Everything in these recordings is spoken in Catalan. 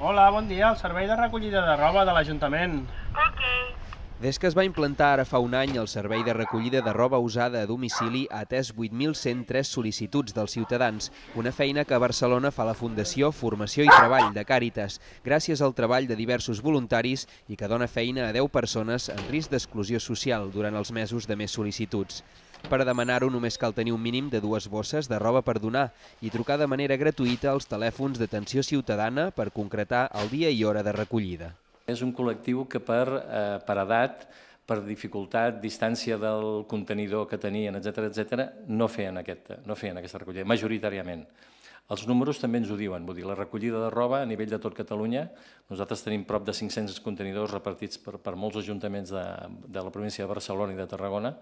Hola, bon dia, el servei de recollida de roba de l'Ajuntament. Des que es va implantar ara fa un any, el servei de recollida de roba usada a domicili ha atès 8.103 sol·licituds dels ciutadans, una feina que a Barcelona fa la Fundació Formació i Treball de Càritas, gràcies al treball de diversos voluntaris i que dona feina a 10 persones en risc d'exclusió social durant els mesos de més sol·licituds. Per a demanar-ho només cal tenir un mínim de 2 bosses de roba per donar i trucar de manera gratuïta als telèfons d'atenció ciutadana per concretar el dia i hora de recollida. És un col·lectiu que per edat, per dificultat, distància del contenidor que tenien, etc., no feien aquesta recollida, majoritàriament. Els números també ens ho diuen, vull dir, la recollida de roba a nivell de tot Catalunya, nosaltres tenim prop de 500 contenidors repartits per molts ajuntaments de la província de Barcelona i de Tarragona,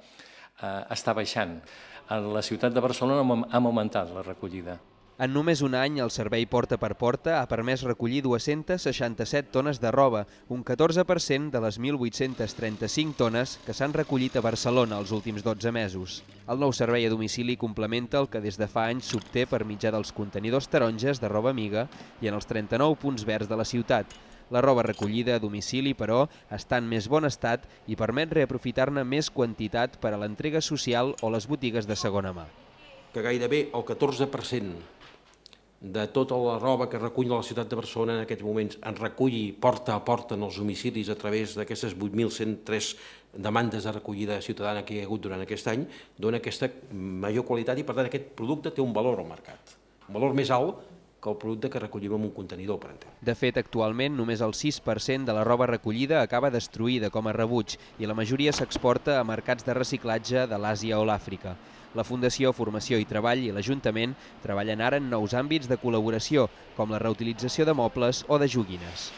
està baixant. A la ciutat de Barcelona hem augmentat la recollida. En només un any, el servei porta per porta ha permès recollir 267 tones de roba, un 14% de les 1.835 tones que s'han recollit a Barcelona els últims 12 mesos. El nou servei a domicili complementa el que des de fa anys s'obté per mitjà dels contenidors taronges de roba amiga i en els 39 punts verds de la ciutat. La roba recollida a domicili, però, està en més bon estat i permet reaprofitar-ne més quantitat per a l'entrega social o les botigues de segona mà. Que gairebé el 14% de tota la roba que recull la ciutat de Barcelona en aquests moments en reculli porta a porta en els domicilis a través d'aquestes 8.103 demandes de recollida ciutadana que hi ha hagut durant aquest any, dona aquesta major qualitat i, per tant, aquest producte té un valor al mercat, un valor més alt que el producte que recollim en un contenidor, per entendre. De fet, actualment, només el 6% de la roba recollida acaba destruïda com a rebuig i la majoria s'exporta a mercats de reciclatge de l'Àsia o l'Àfrica. La Fundació Formació i Treball i l'Ajuntament treballen ara en nous àmbits de col·laboració, com la reutilització de mobles o de joguines.